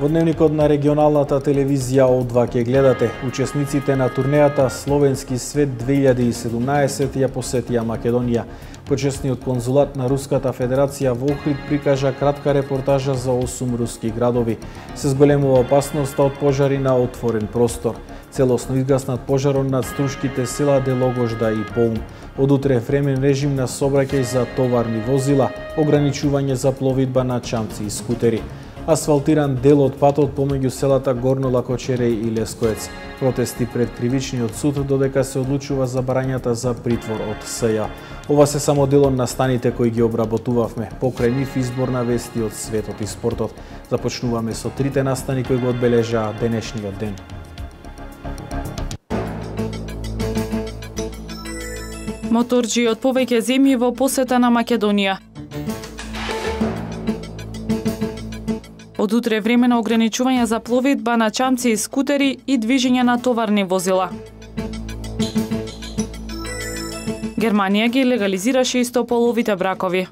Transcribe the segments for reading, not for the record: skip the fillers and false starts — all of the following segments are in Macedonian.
Во дневникот на регионалната телевизија О2 ќе гледате учесниците на турнејата Словенски свет 2017 ја посетија Македонија. Почесниот конзулат на Руската Федерација во Охрид прикажа кратка репортажа за 8 руски градови. Се зголемува опасноста од пожари на отворен простор. Целосно изгаснат пожарот над струшките села Делогожда и Полн. Од утре времен режим на сообраќај за товарни возила, ограничување за пловидба на чамци и скутери. Асфалтиран дел од патот помеѓу селата Горно Лакочереј и Лескоец. Протести пред кривичниот суд додека се одлучува за барањата за притвор од СЈ. Ова се само дел од настаните кои ги обработувавме. Покрај нив избор на вести од светот и спортот. Започнуваме со трите настани кои го одбележаа денешниот ден. Моторџи од повеќе земји во посета на Македонија. Од утре време на ограничување за пловидба на чамци и скутери и движење на товарни возила. Германија ги легализираше истополовите бракови.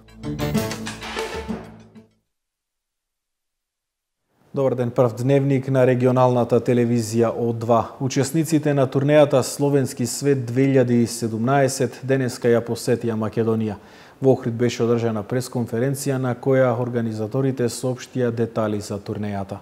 Добар ден, прв дневник на регионалната телевизија О2. Учесниците на турнејата Словенски свет 2017 денеска ја посетија Македонија. Во Охрид беше одржана пресконференција на која организаторите соопштија детали за турнејата.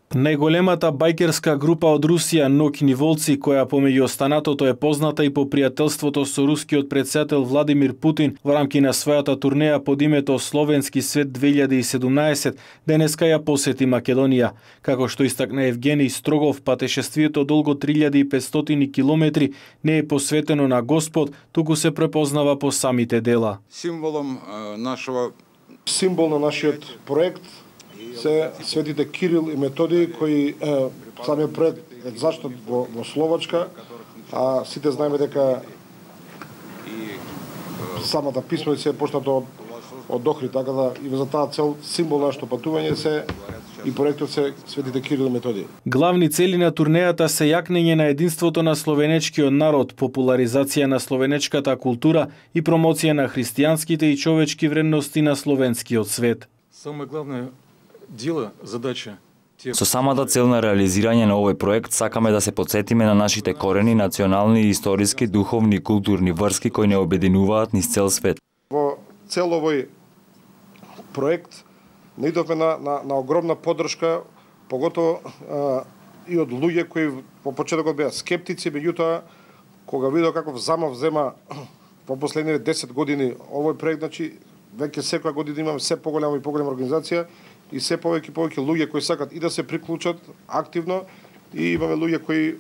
Најголемата бајкерска група од Русија, Ноќни волци, која помеѓу останатото е позната и по пријателството со рускиот претседател Владимир Путин во рамки на својата турнеја под името Словенски свет 2017, денеска ја посети Македонија. Како што истакна Евгений Строгов, патешествието долго 3500 километри не е посветено на Господ, туку се препознава по самите дела. Символ на нашиот проект се светите Кирил и Методиј, кои самиот проект е заштат во Словачка, а сите знаеме дека самата писменица е поштата од Охрид, така да и за таа цел символ нашето патување се и проектот се светите Кирил и Методиј. Главни цели на турнејата се јакнење на единството на словенечкиот народ, популаризација на словенечката култура и промоција на христијанските и човечки вредности на словенскиот свет. Самое главное задача. Со самата цел на реализирање на овој проект сакаме да се потсетиме на нашите корени, национални, историски, духовни и културни врски кои не обединуваат низ цел свет. Во цел овој проект наидовме на огромна поддршка, поготово и од луѓе кои во почетокот беа скептици, меѓутоа кога видов каков замав зема во последните 10 години овој проект, значи веќе секоја година имаме се поголема и поголема организација и се повеќе луѓе кои сакат и да се приклучат активно и имаме луѓе кои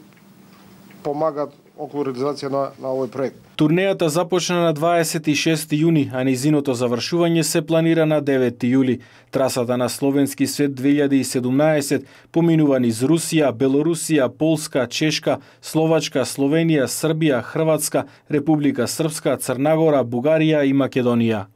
помагаат околу реализација на овој проект. Турнејата започна на 26 јуни, а низиното завршување се планира на 9 јули. Трасата на Словенски свет 2017 поминува низ Русија, Белорусија, Полска, Чешка, Словачка, Словенија, Србија, Хрватска, Република Српска, Црнагора, Бугарија и Македонија.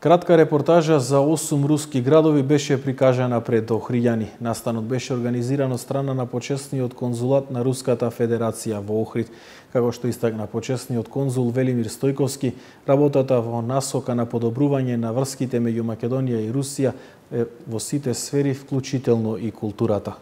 Кратка репортажа за 8 руски градови беше прикажана пред охриѓани. Настанот беше организиран од страна на почесниот конзулат на Руската Федерација во Охрид. Како што истакна почесниот конзул Велимир Стојковски, работата во насока на подобрување на врските меѓу Македонија и Русија е во сите сфери, вклучително и културата.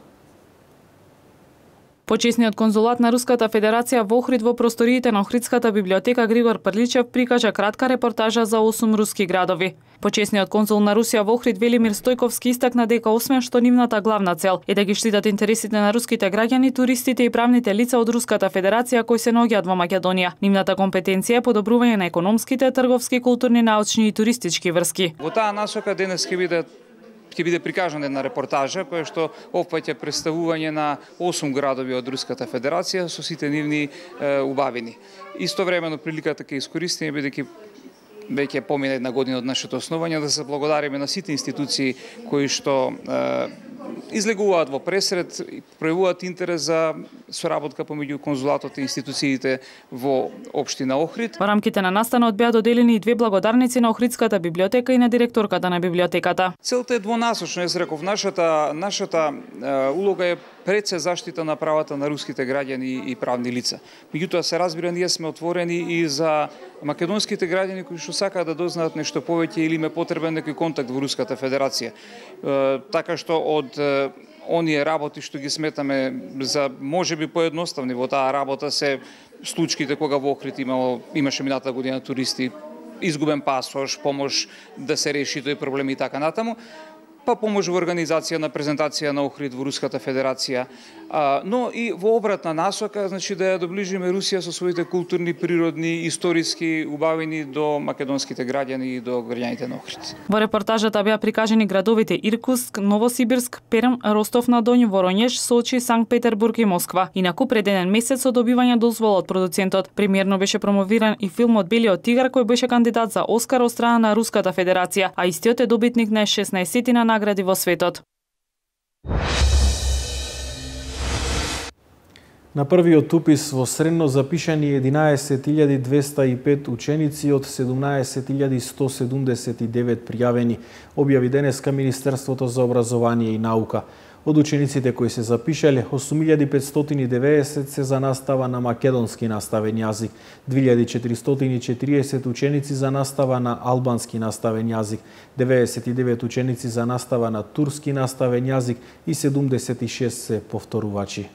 Почесниот конзулат на Руската Федерација во Охрид во просториите на Охридската библиотека Григор Прличев прикажа кратка репортажа за 8 руски градови. Почесниот конзул на Русија во Охрид Велимир Стојковски истакна дека освен што нивната главна цел е да ги штитат интересите на руските граѓани, туристите и правните лица од Руската Федерација кои се наоѓаат во Македонија, нивната компетенција е подобрување на економските, трговски, културни, научни и туристички врски. Во таа насока денес ќе биде прикажана една репортажа која што опфаќа представување на 8 градови од Руската Федерација со сите нивни убавини. Истовремено приликата ќе искористиме бидејќи веќе помина една година од нашето основање да се благодариме на сите институции кои што излегуваат во пресред и пројавуваат интерес за соработка помеѓу конзулатот и институциите во општина Охрид. Во рамките на настанот беа доделени и 2 благодарници на Охридската библиотека и на директорката на библиотеката. Целта е двонасочна, јас реков, нашата улога е пред се заштита на правата на руските граѓани и правни лица. Меѓутоа се разбира, ние сме отворени и за македонските граѓани кои што сакаат да дознаат нешто повеќе или им е потребен некој контакт во Руската Федерација. Така што од оние работи што ги сметаме за можеби поедноставни во таа работа се случаите кога во Охрид имаше минатата година туристи, изгубен пасош, помош да се реши тој проблем и така натаму, па помош во организација на презентација на Охрид во Руската Федерација, но и во обратна насока, значи да ја доближиме Русија со своите културни, природни, историски убавини до македонските граѓани и до граѓаните на Охрид. Во репортажата беа прикажани градовите Иркутск, Новосибирск, Перм, Ростов на Доњ, Воронеж, Сочи, Санкт Петербург и Москва. Инаку пред еден месец со добивање дозвола од продуцентот, премиерно беше промовиран и филмот Белиот тигар кој беше кандидат за Оскар од страна на Руската Федерација, а истиот е добитник на 16-тина награди во светот. На првиот упис во средно запишани 11.205 ученици од 17.179 пријавени, објави денеска Министерството за образование и наука. Од учениците кои се запишале, 8.590 се за настава на македонски наставен јазик, 2.440 ученици за настава на албански наставен јазик, 99 ученици за настава на турски наставен јазик и 76 се повторувачи.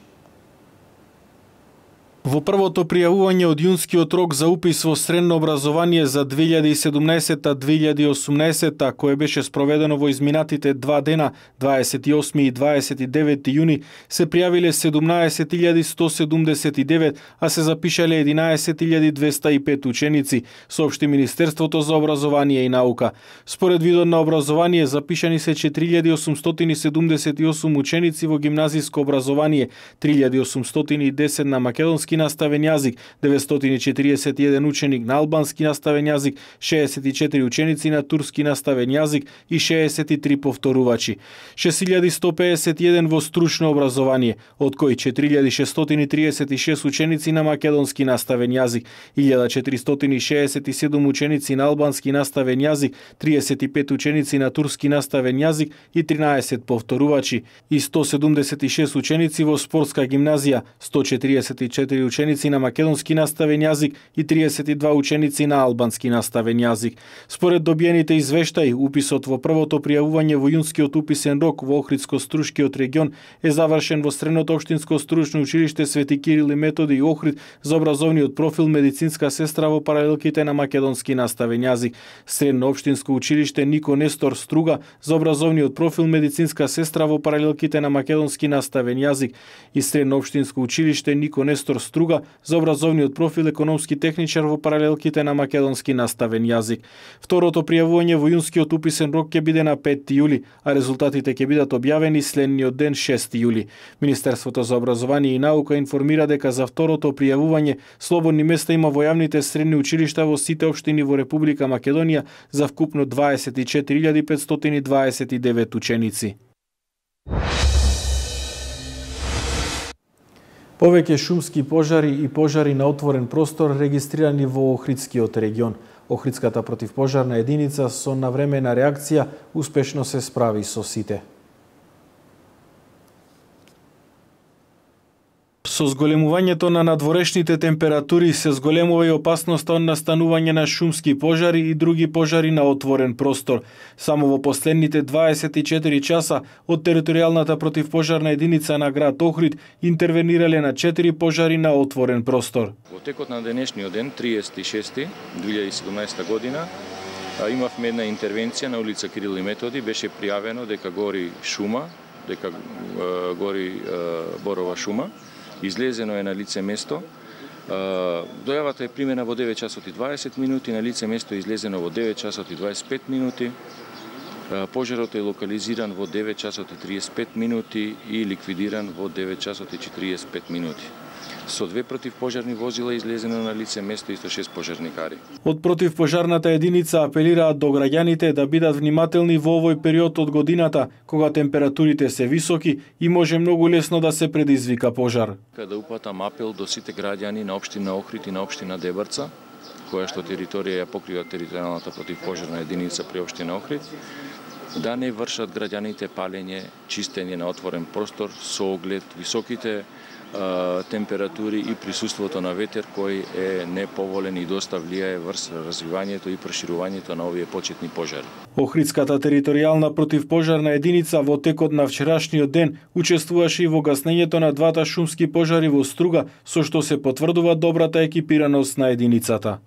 Во првото пријавување од јунскиот рок за упис во средно образование за 2017-2018, кое беше спроведено во изминатите 2 дена, 28 и 29 јуни, се пријавиле 17.179, а се запишале 11.205 ученици, соопшти Министерството за образование и наука. Според видот на образование, запишани се 4.878 ученици во гимназиско образование, 3.810 на македонски наставен јазик, 941 ученик на албански наставен јазик, 64 ученици на турски наставен јазик и 63 повторувачи. 6151 во стручно образование, од кои 4636 ученици на македонски наставен јазик, 1467 ученици на албански наставен јазик, 35 ученици на турски наставен јазик и 13 повторувачи, и 176 ученици во спортска гимназија, 144 ученици на македонски наставен јазик и 32 ученици на албански наставен јазик. Според добиените извештаи, уписот во првото пријавување во јунскиот уписен рок во Охридско-Струшкиот регион е завршен во Средното општинско стручно училиште Свети Кирил и Методи и Охрид за образовниот профил медицинска сестра во паралелките на македонски наставен јазик, Средно општинско училиште Нико Нестор Струга за образовниот профил медицинска сестра во паралелките на македонски наставен јазик и Средно општинско училиште Нико Нестор Струга за образовниот профил економски техничар во паралелките на македонски наставен јазик. Второто пријавување во јунскиот уписен рок ќе биде на 5 јули, а резултатите ќе бидат објавени следниот ден 6 јули. Министерството за образование и наука информира дека за второто пријавување слободни места има во јавните средни училишта во сите општини во Република Македонија за вкупно 24.529 ученици. Повеќе шумски пожари и пожари на отворен простор регистрирани во Охридскиот регион. Охридската противпожарна единица со навремена реакција успешно се справи со сите. Со зголемувањето на надворешните температури се зголемува и опасноста од настанување на шумски пожари и други пожари на отворен простор. Само во последните 24 часа од територијалната противпожарна единица на град Охрид интервенирале на 4 пожари на отворен простор. Во текот на денешниот ден, 36.2017 година, имавме една интервенција на улица Кирил и Методи, беше пријавено дека гори шума, дека гори борова шума. Излезено е на лице место. Дојавата е примена во 9 часот и 20 минути, на лице место е излезено во 9 часот и 25 минути. Пожарот е локализиран во 9 часот и 35 минути и ликвидиран во 9 часот и 45 минути. Со 2 противпожарни возила излезено на лице место и 106 пожарникари. Од противпожарната единица апелираат до граѓаните да бидат внимателни во овој период од годината, кога температурите се високи и може многу лесно да се предизвика пожар. Да упатам апел до сите граѓани на општина Охрид и на општина Дебарца, која што територија ја покрива територијалната противпожарна единица при општина Охрид, да не вршат граѓаните палење, чистење на отворен простор со оглед високите температури и присуството на ветер кој е неповолен и доста влијае врз развивањето и проширувањето на овие почетни пожари. Охридската територијална противпожарна единица во текот на вчерашниот ден учествуваше и во гаснењето на двата шумски пожари во Струга, со што се потврдува добрата екипираност на единицата.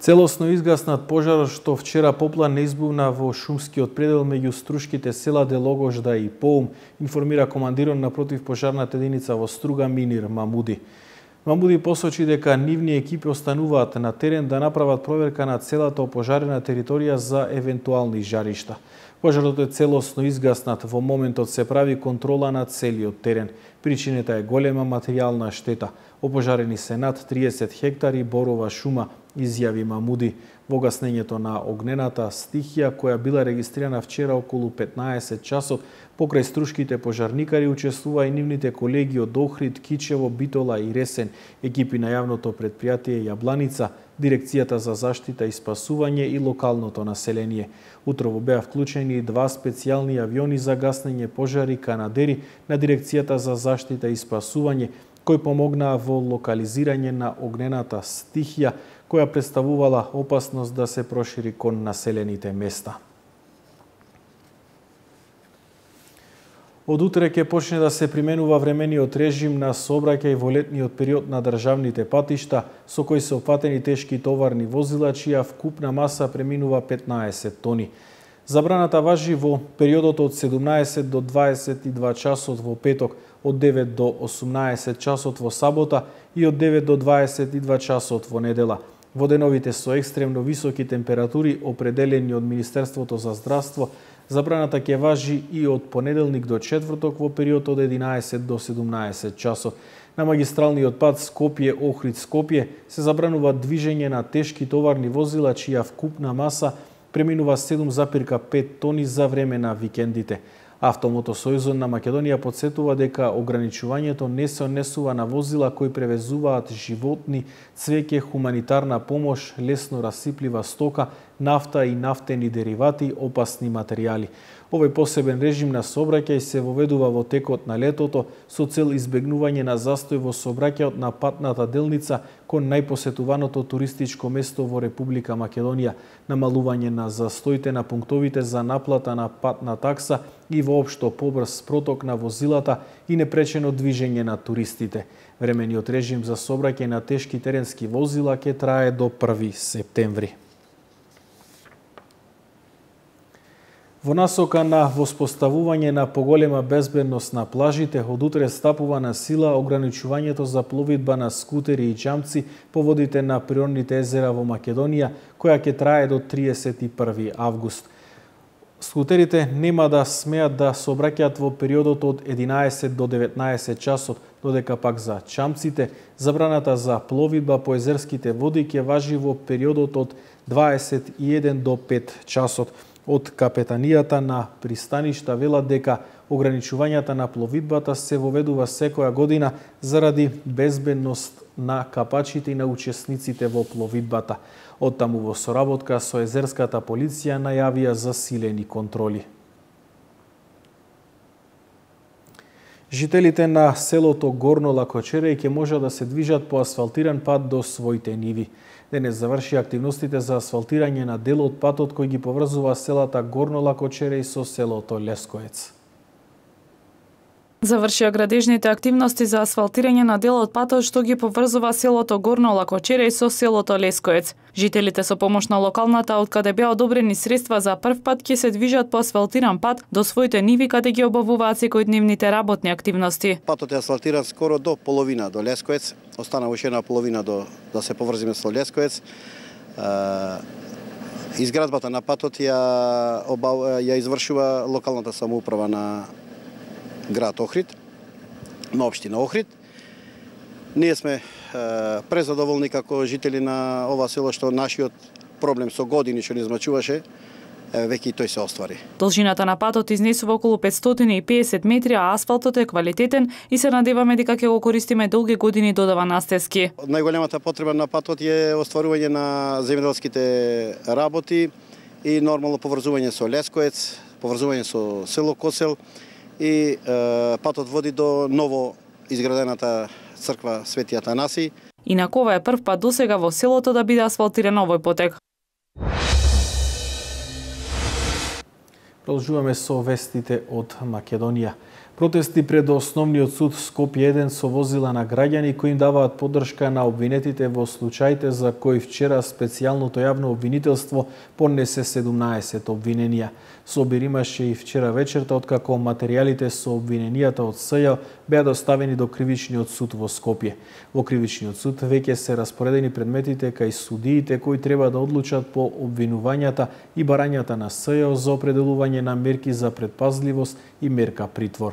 Целосно изгаснат пожарот што вчера поплан не избувна во шумскиот предел меѓу струшките села Делогожда и Поум, информира командирот на противпожарната единица во Струга Минир Мамуди. Мамуди посочи дека нивни екипи остануваат на терен да направат проверка на целата опожарена територија за евентуални жаришта. Пожарот е целосно изгаснат, во моментот се прави контрола на целиот терен. Причината е голема материјална штета. Опожарени се над 30 хектари борова шума, изјави Мамуди. Во гаснењето на огнената стихија, која била регистрирана вчера околу 15 часот, покрај струшките пожарникари учествува и нивните колеги од Охрид, Кичево, Битола и Ресен, екипи на јавното предпријатие Јабланица, Дирекцијата за заштита и спасување и локалното население. Утрово беа вклучени и 2 специјални авиони за гаснење пожари канадери на Дирекцијата за заштита и спасување, кои помогнаа во локализирање на огнената стихија, која представувала опасност да се прошири кон населените места. Од утре ќе почне да се применува времениот режим на сообраќај во летниот период на државните патишта, со кои се опфатени тешки товарни возила, чија вкупна маса преминува 15 тони. Забраната важи во периодот од 17 до 22 часот во петок, од 9 до 18 часот во сабота и од 9 до 22 часот во недела. Во деновите со екстремно високи температури, определени од Министерството за здравство, забраната ќе важи и од понеделник до четврток во период од 11 до 17 часот. На магистралниот пат Скопје-Охрид-Скопје се забранува движење на тешки товарни возила чија вкупна маса преминува 7,5 тони за време на викендите. Автомотосојузот на Македонија потсетува дека ограничувањето не се однесува на возила кои превезуваат животни, цвеќе, хуманитарна помош, лесно расиплива стока, нафта и нафтени деривати, опасни материјали. Овој посебен режим на сообраќај се воведува во текот на летото со цел избегнување на застој во сообраќајот на патната делница кон најпосетуваното туристичко место во Република Македонија, намалување на застоите на пунктовите за наплата на патна такса и воопшто побрз проток на возилата и непречено движење на туристите. Времениот режим за сообраќај на тешки теренски возила ќе трае до 1 септември. Во насока на воспоставување на поголема безбедност на плажите, од утре стапува на сила ограничувањето за пловидба на скутери и чамци по водите на природните езера во Македонија, која ќе трае до 31 август. Скутерите нема да смеат да сообраќаат во периодот од 11 до 19 часот, додека пак за чамците забраната за пловидба по езерските води ќе важи во периодот од 21 до 5 часот. Од капетанијата на пристаништа велат дека ограничувањата на пловидбата се воведува секоја година заради безбедност на капачите и на учесниците во пловидбата. Оттаму во соработка со езерската полиција најавија засилени контроли. Жителите на селото Горно Лакочереј ќе можат да се движат по асфалтиран пат до своите ниви. Денес заврши активностите за асфалтирање на дел од патот кој ги поврзува селата Горно Лакочереј со селото Лескоец. Завршија градежните активности за асфалтирање на дел од патот што ги поврзува селото Горно Лакочереј со селото Лескоец. Жителите со помош на локалната, откаде беа одобрени средства за прв пат, ќе се движат по асфалтиран пат до своите ниви каде ги обавуваат секојдневните работни активности. Патот е асфалтиран скоро до половина до Лескоец, остана уште една половина да се поврзиме со Лескоец. Изградбата на патот ја извршува локалната самоуправа град Охрид, на општина Охрид. Ние сме презадоволни како жители на ова село што нашиот проблем со години што ни измачуваше, веќе и тој се оствари. Должината на патот изнесува околу 550 метри, а асфалтот е квалитетен и се надеваме дека ќе го користиме долги години, додава Настевски. Најголемата потреба на патот е остварување на земјоделските работи и нормално поврзување со Лескоец, поврзување со село Косел и патот води до ново изградената црква Свети Атанаси. Инаку ова е прв пат досега во селото да биде асфалтиран овој потек. Продолжуваме со вестите од Македонија. Протести пред Основниот суд Скопје 1 со возила на граѓани кои им даваат поддршка на обвинетите во случаите за кои вчера специјалното јавно обвинителство поднесе 17 обвиненија. Собир имаше и вчера вечерта, откако материјалите со обвиненијата од СЈ беа доставени до Кривичниот суд во Скопје. Во Кривичниот суд веќе се распоредени предметите кај судиите кои треба да одлучат по обвинувањата и барањата на СЈ за определување на мерки за предпазливост и мерка притвор.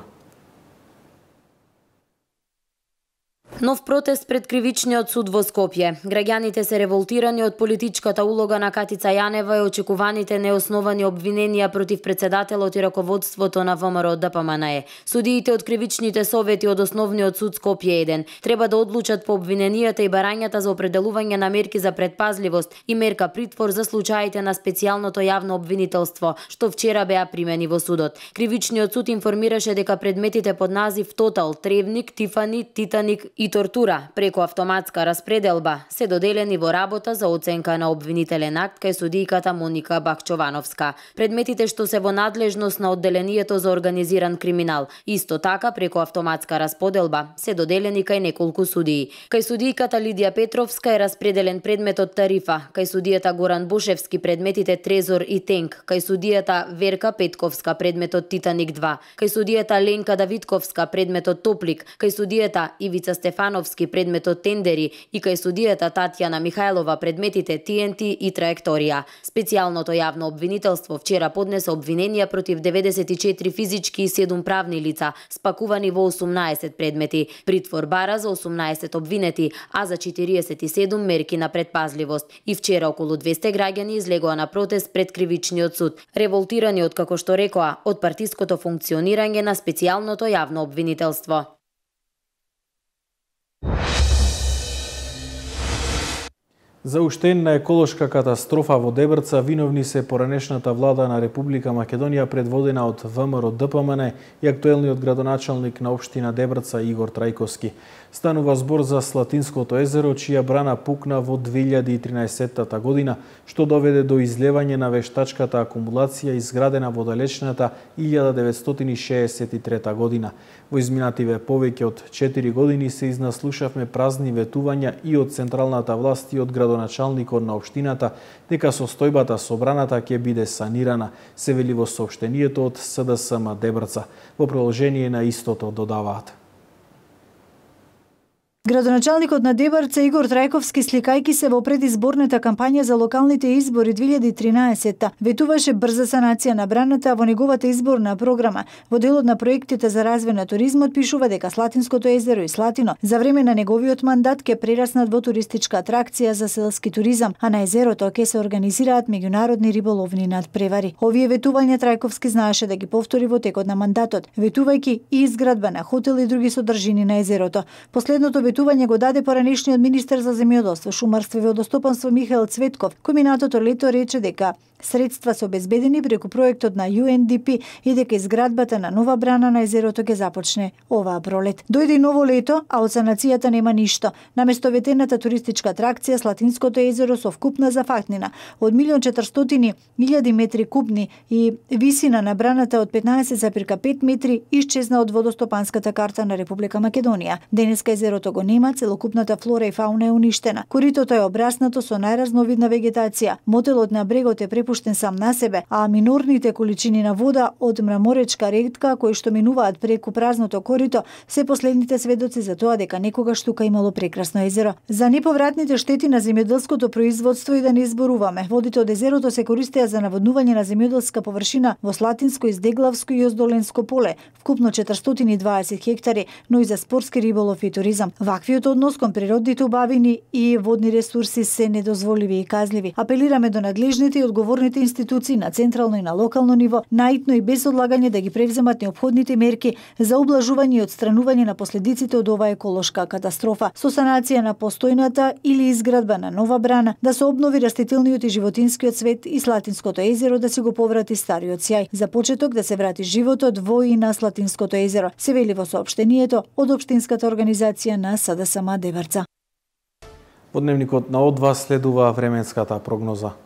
Нов протест пред Кривичниот суд во Скопје. Граѓаните се револтирани од политичката улога на Катица Јанева и очекуваните неосновани обвиненија против председателот и раководството на ВМРО ДПМНЕ. Судиите од кривичните совети од Основниот суд Скопје 1 треба да одлучат по обвиненијата и барањата за определување на мерки за предпазливост и мерка притвор за случаите на специјалното јавно обвинителство, што вчера беа примени во судот. Кривичниот суд информираше дека предметите под назив Тотал, Тревник, Тифани, Титаник и тортура преку автоматска распределба се доделени во работа за оценка на обвинителен акт кај судијката Моника Бакчовановска. Предметите што се во надлежност на одделението за организиран криминал, исто така преку автоматска расподелба се доделени кај неколку судии. Кај судијката Лидија Петровска е распределен предметот Тарифа, кај судијата Горан Бушевски предметите Трезор и Тенк, кај судијата Верка Петковска предметот Титаник 2, кај судијата Ленка Давидковска предметот Топлик, кај судијата Ивица Стефановски предметот Тендери и кај судијата Татјана Михајлова предметите ТНТ и Траекторија. Специјалното јавно обвинителство вчера поднесе обвиненија против 94 физички и 7 правни лица, спакувани во 18 предмети. Притвор бара за 18 обвинети, а за 47 мерки на предпазливост. И вчера околу 200 граѓани излегоа на протест пред Кривичниот суд, револтирани од, како што рекоа, од партиското функционирање на специјалното јавно обвинителство. За уштена еколошка катастрофа во Дебрца виновни се поранешната влада на Република Македонија предводена од ВМРО ДПМН и актуелниот градоначалник на општина Дебрца Игор Трајковски. Станува збор за Слатинското езеро, чија брана пукна во 2013 година, што доведе до излевање на вештачката акумулација изградена во далечната 1963 година. Во изминативе повеќе од 4 години се изнаслушавме празни ветувања и од централната власт и од градоначалникот на општината дека состојбата со браната ќе биде санирана, се вели во соопштението од СДСМ Дебрца. Во продолжение на истото додаваат. Градоначалникот на Дебрца Игор Трајковски, сликајки се во предизборната кампања за локалните избори 2013, ветуваше брза санација на браната во неговата изборна програма. Во делот на проектите за развој на туризмот пишува дека Слатинското езеро и Слатино за време на неговиот мандат ќе прераснат во туристичка атракција за селски туризам, а на езерото ќе се организираат меѓународни риболовни надпревари. Овие ветувања Трајковски знаеше да ги повтори во текот на мандатот, ветувајќи и изградба на хотел и други содржини на езерото. Последното ветување го даде поранешниот министер за земјоделство, шумарство и водостопанство Михаил Цветков, кој минатото лето рече дека средства се обезбедени преку проектот на UNDP и дека изградбата на нова брана на езерото ќе започне оваа пролет. Дојде и ново лето, а од санацијата нема ништо. Наместо ветената туристичка атракција, Слатинското езеро со вкупна зафатнина од 1.400.000 метри кубни и висина на браната од 15,5 метри исчезна од водостопанската карта на Република Македонија. Денеска езерото го нема, целокупната флора и фауна е уништена. Коритото е обраснато со најразновидна вегетација. Мотелот на брегот е препуштен сам на себе, а минорните количини на вода од мраморечка ретка кои што минуваат преку празното корито се последните сведоци за тоа дека некогаш тука имало прекрасно езеро. За неповратните штети на земјоделското производство и да не изборуваме. Водите од езерото се користеа за наводнување на земјоделска површина во Слатинско, Издеглавско и Оздоленско поле, вкупно 420 хектари, но и за спортски риболов и туризам. Ваквиот однос кон природните убавини и водни ресурси се недозволиви и казливи. Апелираме до надлежните и одговорните институции на централно и на локално ниво, наитно и без одлагање да ги превземат неопходните мерки за ублажување и отстранување на последиците од оваа еколошка катастрофа, со санација на постојната или изградба на нова брана, да се обнови растителниот и животинскиот свет и Слатинското езеро да се го поврати стариот сјај. За почеток да се врати животот во и на Слатинското езеро, се вели во соопштението од општинската организација на СДСМ Деварца. Во дневникот на Од2 следува временската прогноза.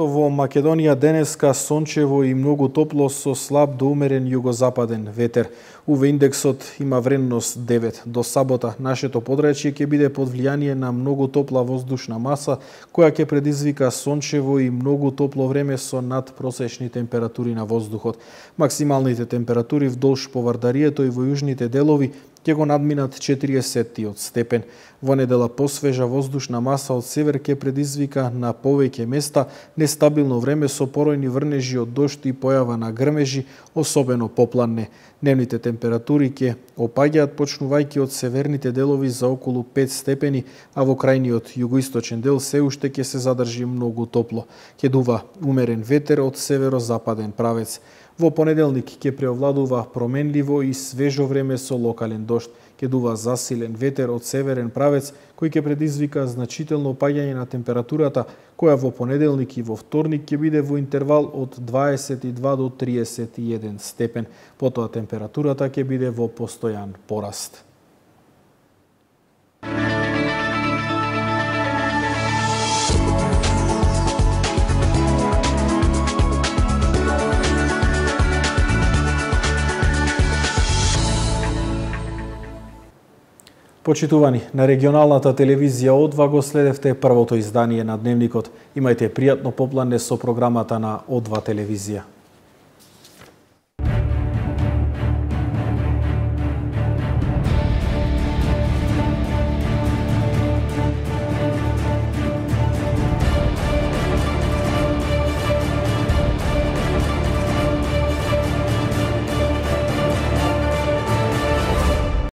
Во Македонија денеска сончево и многу топло со слаб до умерен југозападен ветер. УВ индексот има вредност 9. До сабота нашето подрачје ќе биде под влијание на многу топла воздушна маса, која ќе предизвика сончево и многу топло време со надпросечни температури на воздухот. Максималните температури вдолж повардарието и во јужните делови ќе го надминат 40 степен. Во недела посвежа воздушна маса од север ќе предизвика на повеќе места нестабилно време со поројни врнежи од дожд и појава на грмежи, особено попладне. Дневните температури ќе опаѓаат почнувајќи од северните делови за околу 5 степени, а во крајниот југоисточен дел се уште ќе се задржи многу топло. Ќе дува умерен ветер од северозападен правец. Во понеделник ќе преовладува променливо и свежо време со локален дожд. Ќе дува засилен ветер од северен правец, кој ќе предизвика значително опаѓање на температурата, која во понеделник и во вторник ќе биде во интервал од 22 до 31 степен. Потоа температурата ќе биде во постојан пораст. Почитувани, на регионалната телевизија Од2 го следевте првото издание на Дневникот. Имајте пријатно попладне со програмата на Од2 телевизија.